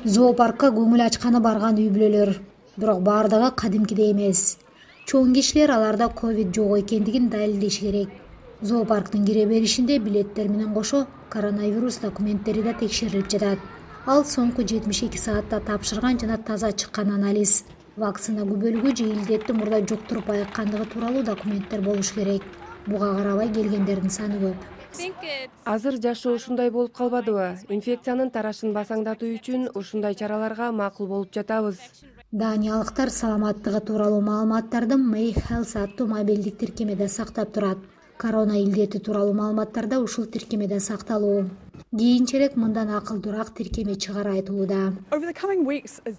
Зоопаркка көңүл ачканы барган үй бүлөлөр, бирок баардыгы кадимкидей эмес. Чоң кишилер аларда ковид жок экендигин далилдеши керек. Зоопарктын кире беришинде билеттер менен кошо коронавирус документтери да текшерилип жатат. Ал соңку 72 саатта тапшырган жана таза чыккан анализ. Вакцина күбөлүгү же илдетти мурда жуктуруп айыккандыгы тууралуу документтер болуш керек. Буга карабай келгендердин саны көп. Азыр жашоо ушундай болуп калбадыбы? Инфекциянын тарашын басаңдатуу үчүн ушундай чараларга макул болуп жатабыз. Даниялыктар саламаттыгы тууралуу маалыматтарды May Health аттуу мобилдик тиркемеде сактап турат. Корона илдети тууралуу маалыматтар да ушул тиркемеде сакталуу. Кийинчерээк мындан акылдуураак тиркеме чыгары айтылууда.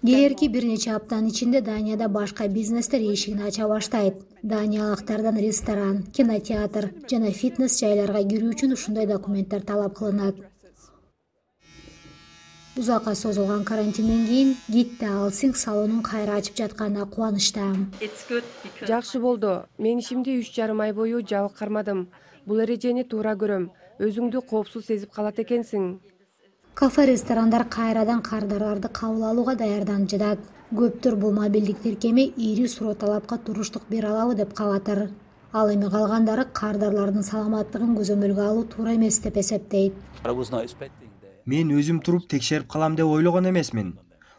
Келерки бир нече аптанын ичинде Данияда башка бизнестер эшигин ача баштайт. Даниялыктардан ресторан, кинотеатр жана фитнес жайларга кирүү үчүн ушундай документтер талап кылынат. Узакка созулган карантинден кийин Гитте Алсинг салонун кайра ачып жатканына кубанычта. Жакшы болду. Мен ишимди 3,5 ай бою жабык кармадым. Бул эрежени туура көрөм. Өзүңдү коопсуз сезип калат экенсиң. Кафе, ресторандар кайрадан кардарларды кабыл алууга даярданып жатат. Көптөр бул мобилдик тиркеме ири суроо талапка туруштук бере алабы деп кабатыр. Ал эми калгандары кардарлардын саламаттыгын көзөмөлгө алуу туура эмес деп эсептейт. Мен өзүм туруп текшерип калам деп ойлогон эмесмин.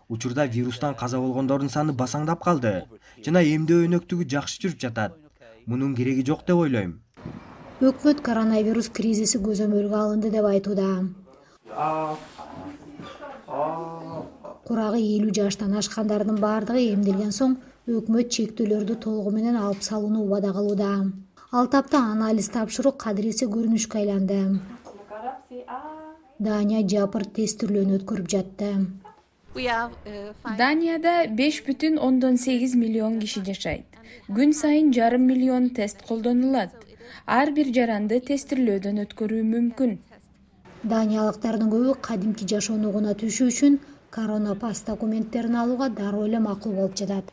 Учурда вирустан каза болгондордун саны басаңдап калды жана эмдөө өнөктүгү жакшы жүрүп жатат. Мунун кереги жок деп ойлойм. Өкмөт коронавирус кризиси көзөмөлгө алынды деп айтууда. Курагы 50 жаштан ашкандардын баардыгы эмделген соң өкмөт чектөөлөрдү толугу менен алып салууну убада кылууда. Ал тапта анализ тапшыруу кадыреси көрүнүшкө айланды. Дания жапыр тестирлөөнү өткөрүп жатты. Данияда 5,8 миллион киши жашайт. Күн сайын 1,5 миллион тест колдонулат. Ар бир жаранды тестирлөөдөн өткөрүү мүмкүн. Даниялыктардын көбү кадимки жашоону угуна түшүү үчүн коронапасс документтерин алууга дароо эле макул болуп жатат.